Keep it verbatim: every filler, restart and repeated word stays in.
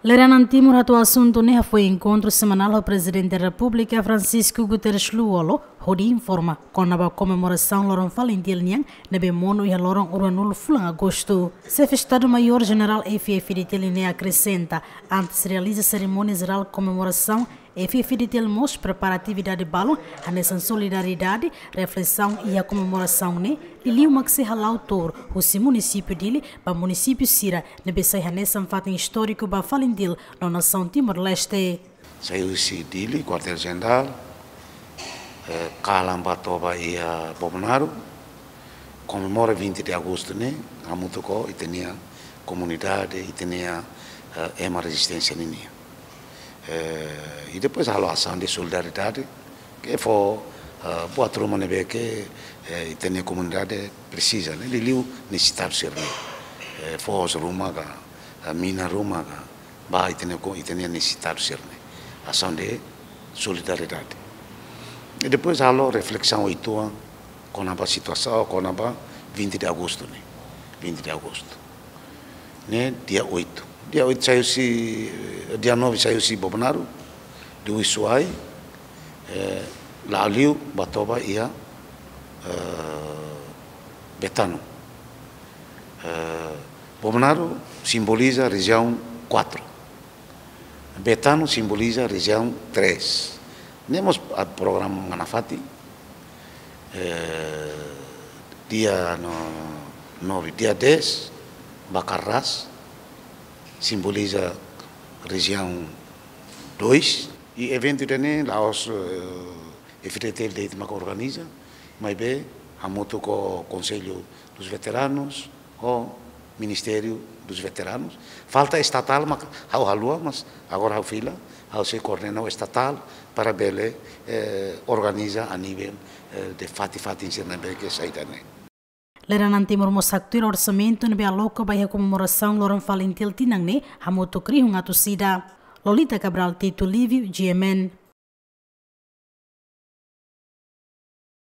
Lideransa Timor hato'o asuntu ne'e hafoin enkontru semanál ho Prezidente Repúblika Francisco Guterres Lú-Olo, hodi informa kona-ba komemorasaun loron FALINTIL nian ne'ebé monu iha loron ruanulu fulan Agostu. Xefe Estadu-Maiór Jenerál F-FDTL nian akresenta, antes realiza serimónia jerál komemorasaun, F-FDTL mós prepara atividade balun hanesan solidariedade, reflesaun iha komemorasaun ne'e, liuliu mak sei hala'o tuur husi munisípiu Dili ba munisípiu sira ne'ebé sai hanesan fatin istóriku ba FALINTIL no nasaun Timor-Leste. Sai husi Dili, kuartél jenerál, eh, kalan ba toba iha Bobonaro, komemora vinte de agosto ne'e, hamutuk ho ita-nia komunidade, ita-nia, eh, ema rezisténsia ninian. Eh, i depois halo asaun de solidariedade, ke fó, eh, buat ruma ne'ebé ke, eh, ita-nia komunidade presiza, ne'e liuliu nesesitadu sira-ne'e. Eh, foos ruma ka, eh, mina ruma ka, ba ita-nia ko-, ita-nia nesesitadu sira-ne'e. Asaun de solidariedade. I depois halo reflesaun uitoan kona-ba situasaun, kona-ba vinte de agosto ne'e. Vinte de agosto. Ne'e dia oito. Dia oito sai husi, dia nove sai husi Bobonaro, de Uisuai, eh, la'o liu ba toba iha, eh, Betano. Eh, Bobonaro simboliza rejiaun quatro. Betano simboliza rejiaun três. Ne'e mós halo programa nafatin, eh, dia no, nove, dia dez, ba Karras, simboliza rejiaun dois. I eventu ida-ne'e la'ós, eh, F-FDTL de'it mak organiza, maibé hamutuk ho Konsellu dos Veteranus, ho Ministériu dos Veteranus. Falta estatál mak ha'u haluha, mas agora ha'u fila, ha'u sei koordena ho estatál para bele, eh, organiza a nivel, eh, de fatin-fatin sira ne'ebé ke sai ida-ne'e. Lideransa Timor mós haktuir orsamentu ne'ebé aloka ba iha komemorasaun loron FALINTIL tinan ne'e hamutuk rihun atus ida. Lolita Cabral Tito Livio, G M N.